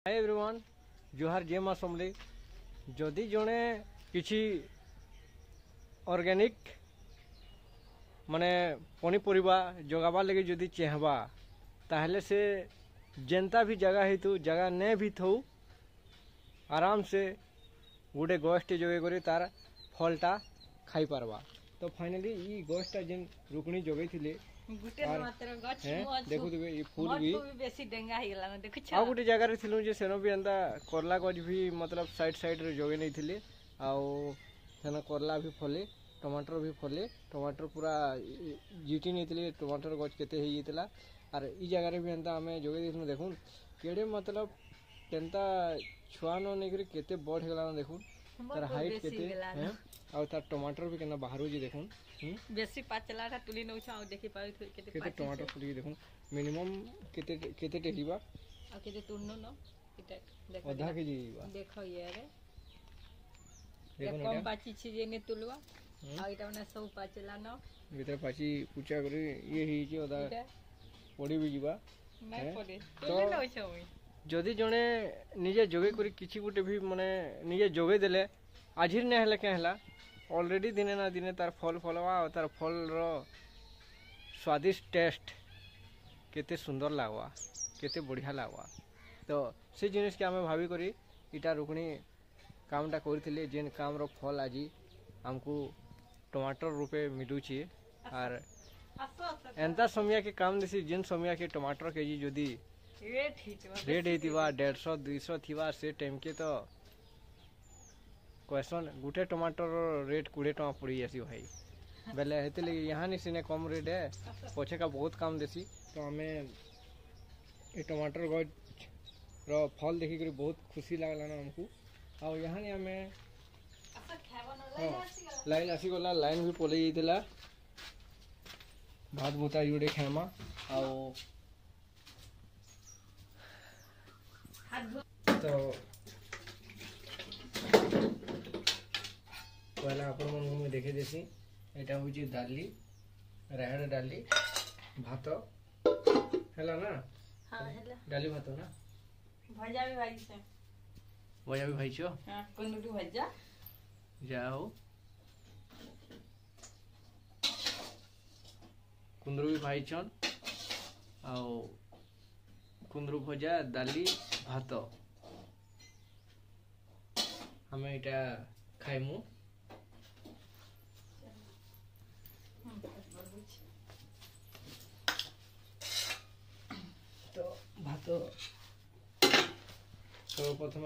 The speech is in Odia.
ହାଇ ଏଭ୍ରିୱାନ୍, ଜୁହାର, ଜୟ ମା ସମଲେଇ। ଯଦି ଜଣେ କିଛି ଅର୍ଗାନିକ୍ ମାନେ ପନିପରିବା ଜଗାବାର୍ ଲାଗି ଯଦି ଚାହେଁବା, ତାହେଲେ ସେ ଯେନ୍ତା ବି ଜାଗା ହେଇଥାଉ, ଜାଗା ନେ ବି ଥାଉ, ଆରାମସେ ଗୋଟେ ଗଛଟେ ଯୋଗେଇ କରି ତାର ଫଲଟା ଖାଇପାରବା। ତ ଫାଇନାଲି ଇ ଗଛଟା ଯେନ୍ ରୁକ୍ମଣୀ ଯୋଗେଇଥିଲେ ଗୁଟେ ମାତ୍ର ଗଛ। ଦେଖୁଥିବେ, ଇ ଫୁଲ ବି ବେଶୀ ଡେଙ୍ଗା ହେଇଗଲାନ, ଦେଖୁଛ? ଆଉ ଗୋଟେ ଜାଗାରେ ଥିଲୁ ଯେ ସେନ ବି ଏନ୍ତା କରଲା ଗଛ ବି ମତଲବ ସାଇଡ୍ ସାଇଡ୍ରେ ଯୋଗେଇ ନେଇଥିଲି, ଆଉ ସେନ କରଲା ବି ଫଲେ, ଟମାଟର ବି ଫଲେ। ଟମାଟର ପୁରା ଜିଟି ନେଇଥିଲି, ଟମାଟର ଗଛ କେତେ ହେଇଯାଇଥିଲା। ଆର୍ ଇ ଜାଗାରେ ବି ଏନ୍ତା ଆମେ ଯୋଗେଇ ଦେଇଥିଲୁ। ଦେଖୁନ୍ କେଡ଼େ ମତଲବ କେନ୍ତା ଛୁଆ ନ ନେଇକରି କେତେ ବଡ଼ ହେଇଗଲାନ। ଦେଖୁନ୍ ତାର ହାଇଟ୍ କେତେ, ଆଉ ତାର ଟମାଟର ବି କେନ୍ତା ବାହାରୁଛି ଦେଖୁନ୍। ବେଶୀ ପାଚଲାଟା ତୁଲି ନଉଛ ଆଉ ଦେଖି ପାରୁଥିବେ କେତେ। କେତେ ଟମାଟର ଫୁଲିକି ଦେଖୁନ୍। ମିନିମମ୍ କେତେ କେତେଟେ ହେଇଯିବା? ଆଉ କେତେ ତୁଲନୁ ନ ଏଟା ଦେଖ, ଅଧା କେଜି ହେଇଯିବା। ଦେଖ, ଇଏରେ କମ ପାଚିଛି ଯେ ନେ ତୁଲବା, ଆଉ ଏଇଟା ମାନେ ସବୁ ପାଚିଲାନ। ଭିତରେ ପାଚି ପୁଚା କରି ଇଏ ହେଇଛି, ଅଧା ପଡ଼ି ବି ଯିବା। ନାଇଁ ପଡେ, ତୁଲି ନଉଛ ମୁଇଁ। ଯଦି ଜଣେ ନିଜେ ଯୋଗେଇ କରି କିଛି ଗୋଟେ ବି ମାନେ ନିଜେ ଯୋଗେଇ ଦେଲେ, ଆଜିର୍ ନାଇଁ ହେଲେ କେଁ ହେଲା, ଅଲରେଡ଼ି ଦିନେ ନା ଦିନେ ତାର ଫଲ୍ ଫଲବା, ଆଉ ତାର ଫଲ୍ର ସ୍ୱାଦିଷ୍ଟ ଟେଷ୍ଟ କେତେ ସୁନ୍ଦର ଲାଗ୍ବା, କେତେ ବଢ଼ିଆ ଲାଗ୍ବା। ତ ସେ ଜିନିଷ୍କେ ଆମେ ଭାବିକରି ଇଟା ରୁକ୍ମଣୀ କାମଟା କରିଥିଲେ, ଯେନ୍ କାମର ଫଲ୍ ଆଜି ଆମକୁ ଟମାଟର ରୂପେ ମିଲୁଛେ। ଆର୍ ଏନ୍ତା ସମୟକେ କାମ ଦେସି ଯେନ୍ ସମୟକେ ଟମାଟର କେଜି ଯଦି ରେଟ୍ ହେଇଥିବା 150 200 ଥିବା, ସେ ଟାଇମ୍କେ ତ କହେସନ୍ ଗୁଟେ ଟମାଟର ରେଟ୍ 20 ଟଙ୍କା ପଡ଼ି ଯାଏସି ଭାଇ। ବେଲେ ହେଥିର୍ଲାଗି ଇହାନି ସିନେ କମ୍ ରେଟ୍ ହେ, ପଛେକା ବହୁତ କାମ ଦେସି। ତ ଆମେ ଏ ଟମାଟର ଗଛର ଫଲ୍ ଦେଖିକରି ବହୁତ ଖୁସି ଲାଗଲାନ ଆମକୁ। ଆଉ ଇହାନି ଆମେ, ହଁ, ଲାଇନ୍ ଆସିଗଲା, ଲାଇନ୍ ବି ପଲେଇ ଯାଇଥିଲା। ଭାତ ଭୁତା ଯୋଡ଼େ ଖାଇମା। ଆଉ ତ ପହଲା ଆପଣମାନଙ୍କୁ ମୁଇଁ ଦେଖେଇ ଦେସି। ଏଇଟା ହଉଛି ଡାଲି, ରାହାଡ଼ ଡାଲି ଭାତ ହେଲା ନା? ଡାଲି ଭାତ ନା। ଭଜା ବି ଭାଜିছে। ଭଜା ବି ଭାଜିଛ? ହଁ, କୁନ୍ଦୁରୁ ଭଜା। ଯା ହଉ, କୁନ୍ଦୁରୁ ବି ଭାଜିଛନ୍। ଆଉ କୁନ୍ଦୁରୁ ଭଜା, ଡାଲି, ଭାତ ଆମେ ଏଇଟା ଖାଇମୁ। ତ ଭାତ ସର୍ବପ୍ରଥମେ